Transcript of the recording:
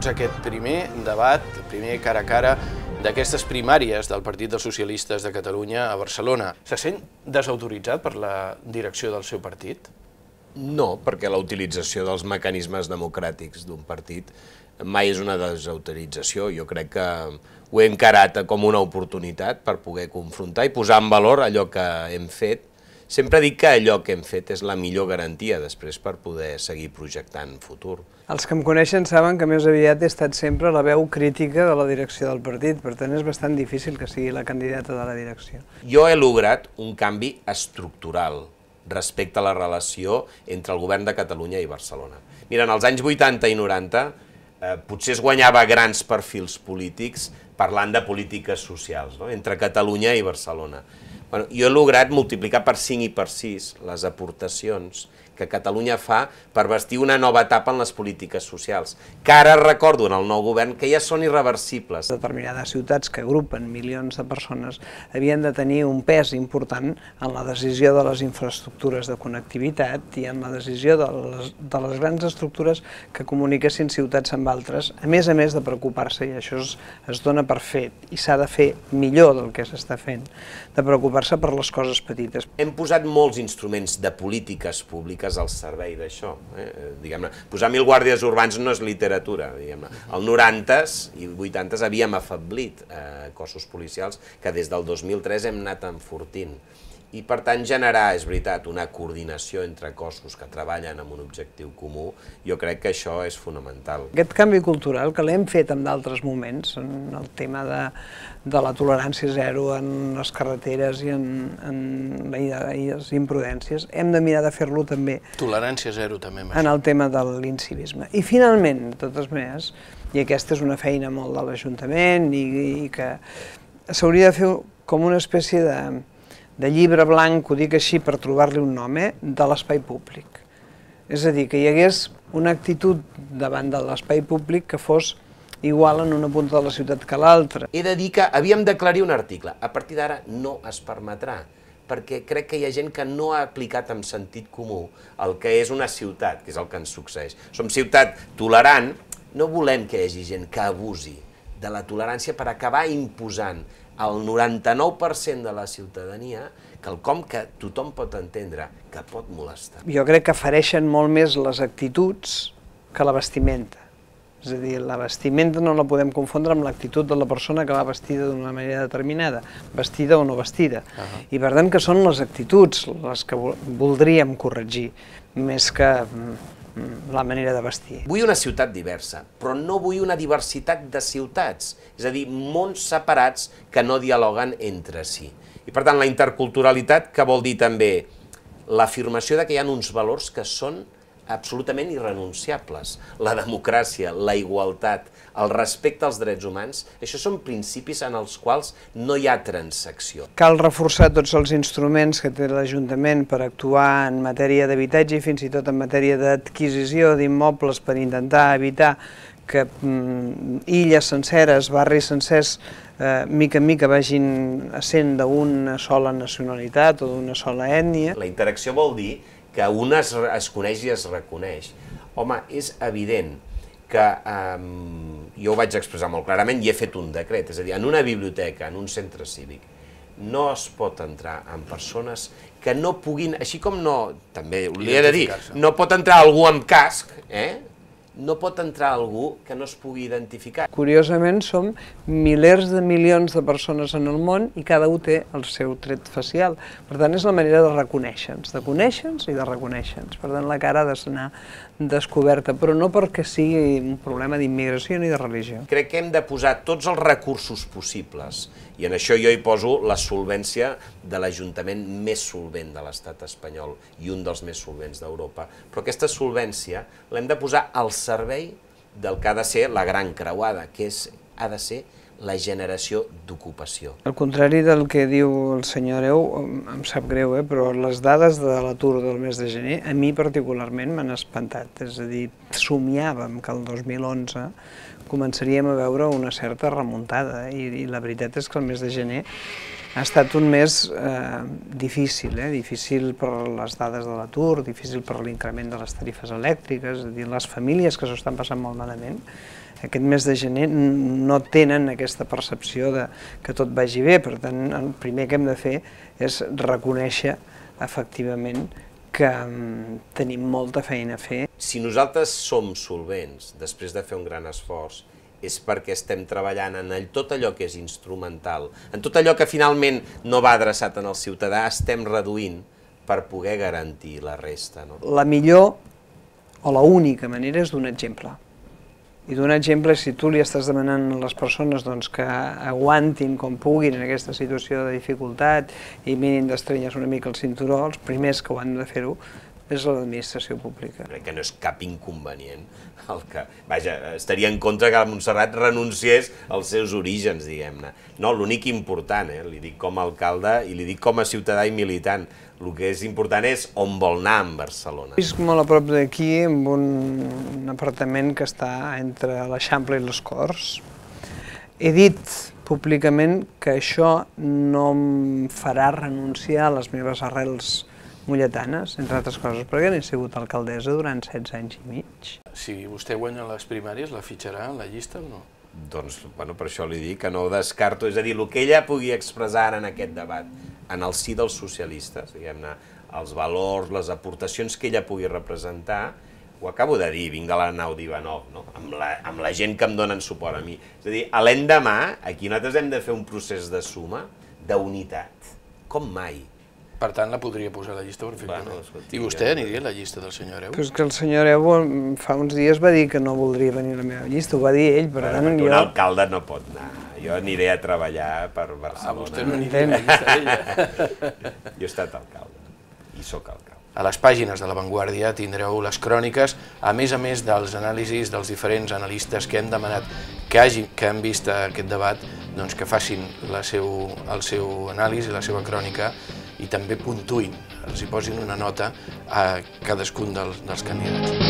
benvinguts a aquest primer debat, primer cara a cara d'aquestes primàries del Partit dels Socialistes de Catalunya a Barcelona. Se sent desautoritzat per la direcció del seu partit? No, perquè la utilització dels mecanismes democràtics d'un partit mai és una desautorització. Jo crec que ho he encarat com una oportunitat per poder confrontar i posar en valor allò que hem fet. Sempre dic que allò que hem fet és la millor garantia després per poder seguir projectant futur. Els que em coneixen saben que més aviat he estat sempre la veu crítica de la direcció del partit, per tant és bastant difícil que sigui la candidata de la direcció. Jo he lograt un canvi estructural respecte a la relació entre el govern de Catalunya i Barcelona. Mira, en els anys 80 i 90 potser es guanyava grans perfils polítics parlant de polítiques socials, no? Entre Catalunya i Barcelona. Bueno, jo he lograt multiplicar per 5 i per 6 les aportacions que Catalunya fa per bastir una nova etapa en les polítiques socials, que ara recordo en el nou govern que ja són irreversibles. Determinades ciutats que agrupen milions de persones havien de tenir un pes important en la decisió de les infraestructures de connectivitat i en la decisió de les grans estructures que comuniquessin ciutats amb altres, a més de preocupar-se, i això es dona per fet i s'ha de fer millor del que s'està fent, de preocupar-se per les coses petites. Hem posat molts instruments de polítiques públiques al servei d'això. Posar 1.000 guàrdies urbans no és literatura. Al 90s i 80s havíem afeblit cossos policials que des del 2003 hem anat enfortint. I per tant generar, és veritat, una coordinació entre cossos que treballen amb un objectiu comú, jo crec que això és fonamental. Aquest canvi cultural que l'hem fet en d'altres moments, en el tema de la tolerància zero en les carreteres i en les imprudències, hem de mirar de fer-lo també Tolerància zero també. En el tema de l'incivisme. I finalment, de totes maneres, i aquesta és una feina molt de l'Ajuntament i que s'hauria de fer com una espècie de llibre blanc, ho dic així per trobar-li un nom, de l'espai públic. És a dir, que hi hagués una actitud davant de l'espai públic que fos igual en una punta de la ciutat que l'altra. He de dir que havíem d'aclarir un article. A partir d'ara no es permetrà, perquè crec que hi ha gent que no ha aplicat amb sentit comú el que és una ciutat, que és el que ens succeeix. Som ciutat tolerant, no volem que hi hagi gent que abusi de la tolerància per acabar imposant al 99% de la ciutadania quelcom que tothom pot entendre, que pot molestar. Jo crec que fereixen molt més les actituds que la vestimenta. És a dir, la vestimenta no la podem confondre amb l'actitud de la persona que va vestida d'una manera determinada, vestida o no vestida. I per tant que són les actituds les que voldríem corregir, més que la manera de vestir. Vull una ciutat diversa, però no vull una diversitat de ciutats, és a dir, mons separats que no dialoguen entre si. I per tant, la interculturalitat, que vol dir també l'afirmació que hi ha uns valors que són absolutament irrenunciables. La democràcia, la igualtat, el respecte als drets humans, això són principis en els quals no hi ha transacció. Cal reforçar tots els instruments que té l'Ajuntament per actuar en matèria d'habitatge i fins i tot en matèria d'adquisició d'immobles per intentar evitar que illes senceres, barris sencers, mica en mica vagin essent d'una sola nacionalitat o d'una sola ètnia. La interacció vol dir que un es coneix i es reconeix. Home, és evident que jo ho vaig expressar molt clarament i he fet un decret, és a dir, en una biblioteca, en un centre cívic, no es pot entrar amb persones que no puguin, així com no, també li he de dir, no pot entrar algú amb casc, no pot entrar algú que no es pugui identificar. Curiosament, som milers de milions de persones en el món i cada un té el seu tret facial. Per tant, és la manera de reconèixer-nos, i de reconèixer-nos. Per tant, la cara ha d'anar descoberta, però no perquè sigui un problema d'immigració ni de religió. Crec que hem de posar tots els recursos possibles, i en això jo hi poso la solvència de l'Ajuntament més solvent de l'estat espanyol i un dels més solvents d'Europa, però aquesta solvència l'hem de posar al servei del que ha de ser la gran creuada, que ha de ser la generació d'ocupació. Al contrari del que diu el senyor Hereu, em sap greu, però les dades de l'atur del mes de gener a mi particularment m'han espantat. És a dir, somiàvem que el 2011 començaríem a veure una certa remuntada i la veritat és que el mes de gener ha estat un mes difícil, difícil per les dades de l'atur, difícil per l'increment de les tarifes elèctriques, és a dir, les famílies que s'ho estan passant molt malament aquest mes de gener no tenen aquesta percepció de que tot vagi bé. Per tant, el primer que hem de fer és reconèixer efectivament que tenim molta feina a fer. Si nosaltres som solvents després de fer un gran esforç, és perquè estem treballant en tot allò que és instrumental, en tot allò que finalment no va adreçat al ciutadà, estem reduint per poder garantir la resta. La millor o l'única manera és donar exemple. I donar exemple, si tu li estàs demanant a les persones que aguantin com puguin en aquesta situació de dificultat i mirin d'estrenyes una mica el cinturó, els primers que ho han de fer-ho és l'administració pública. Crec que no és cap inconvenient el que... Vaja, estaria en contra que la Montserrat renunciés als seus orígens, diguem-ne. No, l'únic important, li dic com a alcalde i li dic com a ciutadà i militant, el que és important és on vol anar en Barcelona. Visc molt a prop d'aquí, en un apartament que està entre l'Eixample i les Corts. He dit públicament que això no em farà renunciar a les meves arrels molletanes, entre altres coses, perquè n'he sigut alcaldessa durant 16 anys i mig. Si vostè guanya les primàries, la fitxarà en la llista o no? Doncs, bueno, per això li dic que no ho descarto, és a dir, el que ella pugui expressar en aquest debat, en el si dels socialistes, diguem-ne, els valors, les aportacions que ella pugui representar, ho acabo de dir, vinc de la nau d'Ivanov, no? Amb la gent que em donen suport a mi. És a dir, a l'endemà, aquí nosaltres hem de fer un procés de suma, d'unitat, com mai. Per tant, la podria posar a la llista perfectament. I vostè aniria a la llista del senyor Hereu? Però és que el senyor Hereu fa uns dies va dir que no voldria venir a la meva llista, ho va dir ell, per tant jo... Un alcalde no pot anar, jo aniré a treballar per Barcelona. Vostè no aniria a la llista d'ella? Jo he estat alcalde, i sóc alcalde. A les pàgines de La Vanguardia tindreu les cròniques, a més dels anàlisis dels diferents analistes que hem demanat que han vist aquest debat, doncs que facin el seu anàlisi, la seva crònica, i també puntuïn, els hi posin una nota a cadascun dels candidats.